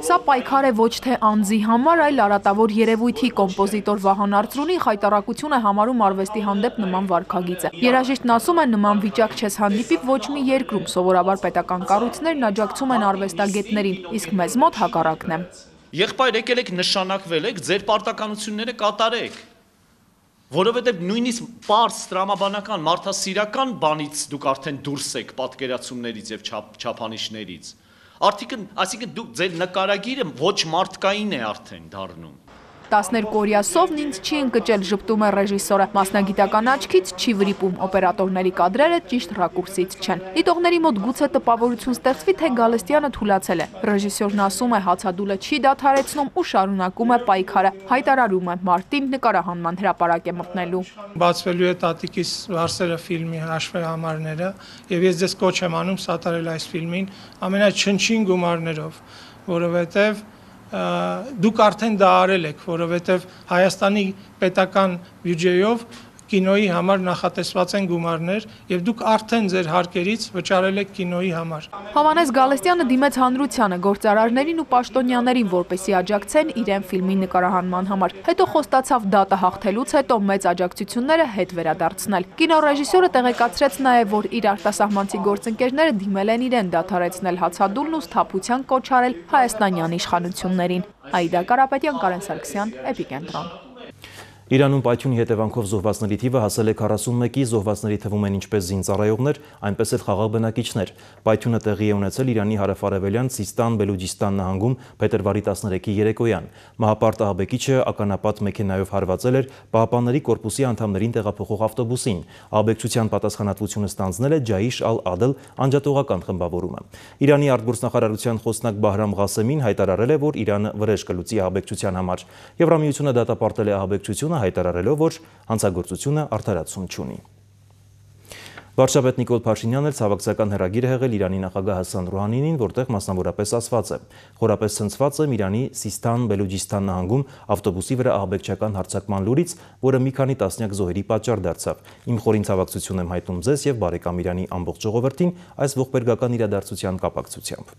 Սա պայքար է ոչ թե անձի համար, այլ արատավոր երևույթի կոմպոզիտոր Վահան Արծրունի խայտարակություն է համարում արվեստի հանդեպ նման վարքագիծը։ Երաժիշտն ասում է, նման վիճակ չես հանդիպի ոչ մի երկրում, սովորաբար պետական կառույցներն աջակցում են արվեստագետներին, իսկ մեզ մոտ հակառակն է։ Եղբայր, եկել եք նշանակվել եք, ձեր պարտականությունները կատարեք, որովհետև նույնիսկ պարզ տրամաբանական, մարդասիրական բանից դուք արդեն դուրս եք պատկերացումներից եւ չափանիշներից։ Արդյունքն, այսինքն դուք ձեր նկարագիրը ոչ մարդկային է արդեն դառնում։ տասներկու օրյա սովն ինձ չի ընկճել, ժպտում է ռեժիսորը, մասնագիտական աչքից չի վրիպում, օպերատորների կադրերը ճիշտ ռակուրսից չեն։ Դիտողների մոտ գուցե տպավորություն ստեղծվի, թե Գալստյանը թուլացել է։ Ռեժիսորն ասում է, հացադուլը չի դադարեցնում ու շարունակում է պայքարը, հայտարարում է, մարտին նկարահանման հրապարակ է մտնելու։ Բացվելու է տատիկիս վարսերը ֆիլմի հաշվեհամարները եւ ես ձեզ կոչ եմ անում սատարել այս ֆիլմին ամենաչնչին գումարներով, որովհետեւ դուք արդեն դա արել եք, որովհետև Հայաստանի պետական բյուջեով կինոյի համար նախատեսված են գումարներ եւ դուք արդեն ձեր հարկերից վճարել եք կինոյի համար։ Հովհաննես Գալստյանը դիմեց հանրությանը, գործարարներին ու պաշտոնյաներին, որպեսզի աջակցեն իրեն ֆիլմի նկարահանման համար։ Հետո խոստացավ դատը հաղթելուց հետո մեծ աջակցությունները հետ վերադարձնել։ Կինոռեժիսորը տեղեկացրեց նաև, որ իր արտասահմանցի գործընկերները դիմել են իրեն դադարեցնել հացադուլն ու սթափության կոչ արել հայաստանյան իշխանություններին։ Աիդա Կարապետյան, Կարեն Սարգսյան, Էպիկենտրոն։ Իրանում պայթյունի հետևանքով զոհվածների թիվը հասել է քառասունմեկի, զոհվածների թվում են ինչպես զինծառայողներ, այնպես էլ խաղաղ բնակիչներ։ Պայթյունը տեղի է ունեցել Իրանի հարավարևելյան Սիստան Բելուջիստան նահանգում փետրվարի տասներեքի երեկոյան։ Մահապարտ ահաբեկիչը ականապատ մեքենայով հարվածել էր Պահապանների կորպուսի անդամներին տեղափոխող ավտոբուսին։ Ահաբեկչության պատասխանատվությունը ստանձնել է Ջայիշ ալ-Ադլ անջատողական խմբավորումը։ Իրանի արտգործնախարարության խոսնակ Բահրամ Ղասեմին հայտարարել է, որ Իրանը վրեժ կլուծի ահաբեկչության համար։ Եվրամիությունը դատապարտել է ահաբեկչությունը, հայտարարելով, որ հանցագործությունը արդարացում չունի։ Վարչապետ Նիկոլ Փաշինյանն էլ ցավակցական հեռագիր է հղել Իրանի նախագահ Հասան Ռուհանինին, որտեղ մասնավորապես ասված է. խորապես ցնցված եմ Իրանի Սիստան Բելուջիստան նահանգում ավտոբուսի վրա ահաբեկչական հարձակման լուրից, որը մի քանի տասնյակ զոհերի պատճառ դարձավ։ Իմ խորին ցավակցություն եմ հայտնում ձեզ եւ բարեկամ Իրանի ամբողջ ժողովրդին այս ողբերգական իրադարձության կապակցությամբ։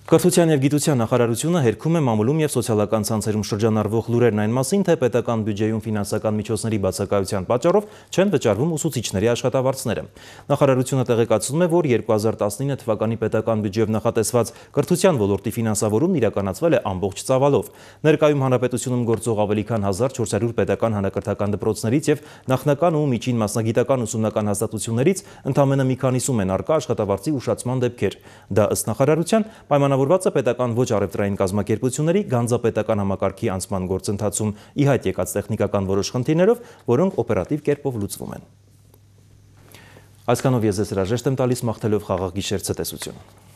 Կրթության և գիտության նախարարությունը հերքում է մամուլում և սոցիալական ցանցերում շրջանառվող լուրերն այն մասին, թե պետական բյուջեում ֆինանսական միջոցների բացակայության պատճառով չեն վճարվում ուսուցիչների աշխատավարձները։ Նախարարությունը տեղեկացնում է, որ երկու հազար տասնինը թվականի պետական բյուջեով նախատեսված կրթության ոլորտի ֆինանսավորումն իրականացվել է ամբողջ ծավալով։ Ներկայում հանրապետությունում գործող ավելի քան հազար չորս հարյուր պետական հանրակրթական դպրոցներից և նախնական ու միջին մասնագիտական ուսումնական հաստատություններից ընդամենը մի քանիսում են առկա աշխատավարձի ուշացման դեպքեր։ Դա ըստ նախարարության պայմանավորված է պետական ոչ առևտրային կազմակերպությունների գանձապետական համակարգի անցման գործընթացում ի հայտ եկած տեխնիկական որոշ խնդիրներով, որոնք օպերատիվ կերպով լուծվում են։ Այսքանով ես ձեզ հրաժեշտ եմ տալիս, մաղթելով խաղաղ գիշեր, ցտեսություն։